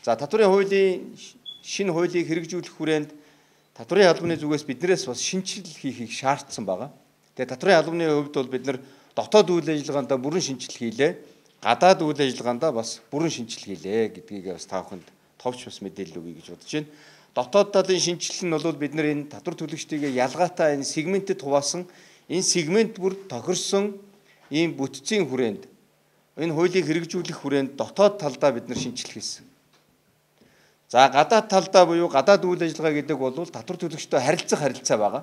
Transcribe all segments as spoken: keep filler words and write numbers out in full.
За татварын хуулийн шинэ хуулийг хэрэгжүүлэх хүрээнд татварын албаны зүгээс биднээс бас шинжилэл хийхийг шаардсан байгаа. Тэгээ татварын албаны хувьд бол бид нар дотоод үйл ажиллагаанд бүрэн шинжилэл хийлээ. Гадаад үйл ажиллагаанд бас бүрэн шинжилэл хийлээ гэдгийг бас та бүхэнд товч бас мэдээлэл өгье гэж бодож байна. Дотоод талын шинжилэл нь бол бид нар энэ татвар төлөгчдийг ялгаатай энэ сегментэд хуваасан энэ сегмент бүр тохирсон ийм бүтцийн хүрээнд энэ хуулийг хэрэгжүүлэх хүрээнд дотоод талдаа бид нар шинжилэл хийсэн. За гадаад талдаа буюу гадаад үйл ажиллагаа гэдэг бол татвар төлөгчтэй харилцах харилцаа байгаа.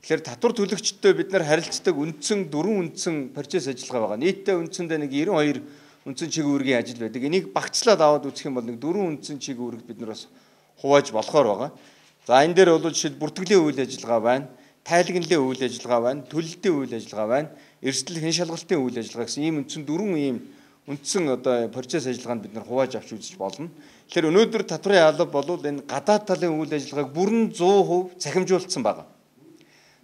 Тэгэхээр татвар төлөгчтэй бид нар харилцдаг үндсэн дөрвөн үндсэн процесс ажиллагаа байгаа. Нийтдээ үндсэндээ нэг девяносто two үндсэн чиг үүргийн ажил байдаг. Энийг багцлаад аваад үзэх юм бол нэг дөрвөн үндсэн чиг үүрэгт бид нар бас хувааж болохоор байгаа. За энэ дээр бол жишээд бүртгэлийн үйл ажиллагаа байна, тайлагналын үйл ажиллагаа байна, төлөлтийн үйл ажиллагаа байна, эрсдэл хэн шалгалтын үйл ажиллагаа гэсэн ийм үндсэн дөрвөн ийм үндсэн одоо процесс ажиллагаанд бид нар хувааж авч үзэж болно. Тэгэхээр өнөөдөр татварын алба бол энэ гадаад талын үйл ажиллагааг бүрэн сто перцент цахимжуулсан байна.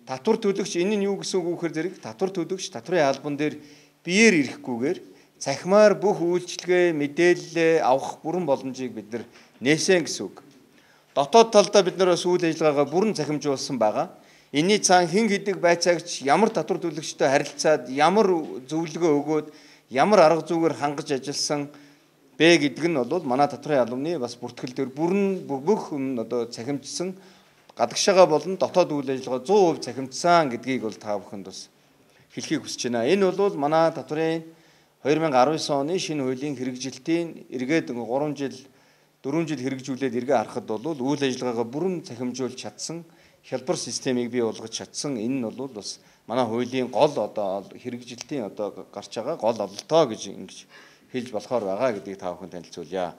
Татвар төлөгч энэ нь юу гэсэн үг вэхээр зэрэг татвар төлөгч татварын албан дээр биеэр ирэхгүйгээр цахимаар бүх үйлчилгээ, мэдээлэл авах бүрэн боломжийг бид нар нээсэн гэсэн үг. Дотоод талдаа бид нар бас үйл ажиллагаагаа бүрэн цахимжуулсан байгаа. Энийний цаана хэн хэдэг байцаагч ямар татвар төлөгчтэй харилцаад ямар зөвлөгөө өгөөд ямар арга зүйгээр хангаж ажилласан бэ гэдэг нь бол манай татварын албаны бас бүртгэл дээр бүрэн бүх одоо цахимжсан гадагшаага болон дотоод үйл ажиллагаа сто перцент цахимжсан гэдгийг бол та бүхэнд бас хэлхийг хүсэж байна. Энэ бол манай татварын two thousand nineteen оны шинэ хуулийн хэрэгжилтийн эргээд three жил four жил хэрэгжүүлээд эргээ харахад бол үйл ажиллагаагаа бүрэн цахимжуулж чадсан хялбар системийг бий болгож чадсан. Энэ нь бол бас манай хуулийн гол одоо хэрэгжилтийн одоо гарч байгаа гол ололтоо гэж ингэж хэлж болохоор байгаа гэдгийг та бүхэн танилцуулъя.